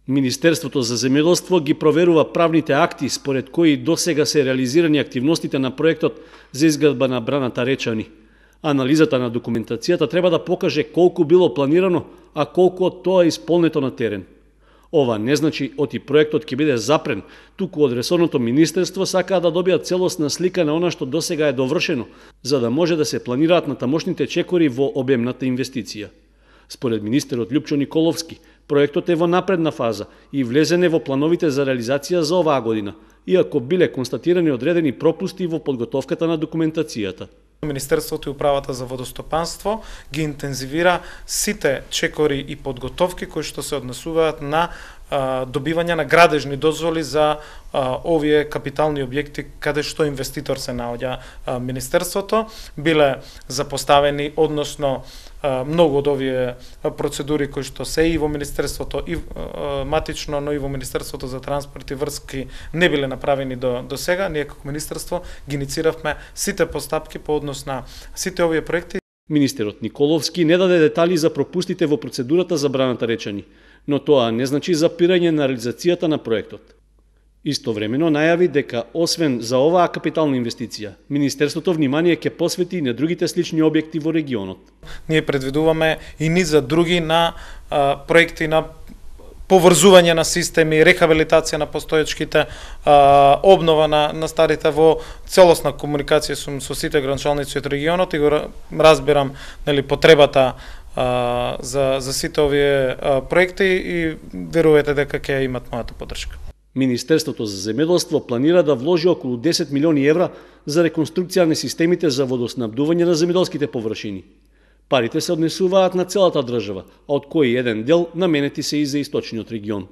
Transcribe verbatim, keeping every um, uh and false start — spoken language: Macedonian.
Министерството за земјоделство ги проверува правните акти според кои досега се реализирани активностите на проектот за изградба на браната Речани. Анализата на документацијата треба да покаже колку било планирано, а колку од тоа е исполнето на терен. Ова не значи оти проектот ќе биде запрен, туку од ресорното министерство сакаа да добијат целосна слика на она што досега е довршено, за да може да се планираат натамошните чекори во обемната инвестиција. Според министерот Љупчо Николовски, проектот е во напредна фаза и влезене во плановите за реализација за оваа година, иако биле констатирани одредени пропусти во подготовката на документацијата. Министерството и управата за водостопанство ги интензивира сите чекори и подготовки кои што се однесуваат на а, добивање на градежни дозволи за а, овие капитални објекти каде што инвеститор се наоѓа а, Министерството. Биле запоставени, односно а, многу од овие процедури кои што се и во Министерството и а, матично, но и во Министерството за транспорт и врски не биле направени до, до сега. Ние како Министерство ги иницииравме сите постапки по однос на сите овие проекти. Министерот Николовски не даде детали за пропустите во процедурата за браната Речани, но тоа не значи запирање на реализацијата на проектот. Истовремено најави дека освен за оваа капитална инвестиција, Министерството внимание ќе посвети и на другите слични објекти во регионот. Ние предвидуваме и низ за други на а, проекти на поврзување на системи, рехабилитација на постоечките, а, обнова на, на старите во целосна комуникација со, со сите граничалници од регионот и го разбирам нели потребата а, за за сите овие а, проекти и верувате дека ќе имат мојата поддршка. Министерството за земјоделство планира да вложи околу десет милиони евра за реконструкција на системите за водоснабдување на земјоделските површини. Парите се однесуваат на целата држава, а од кои еден дел наменети се и за источниот регион.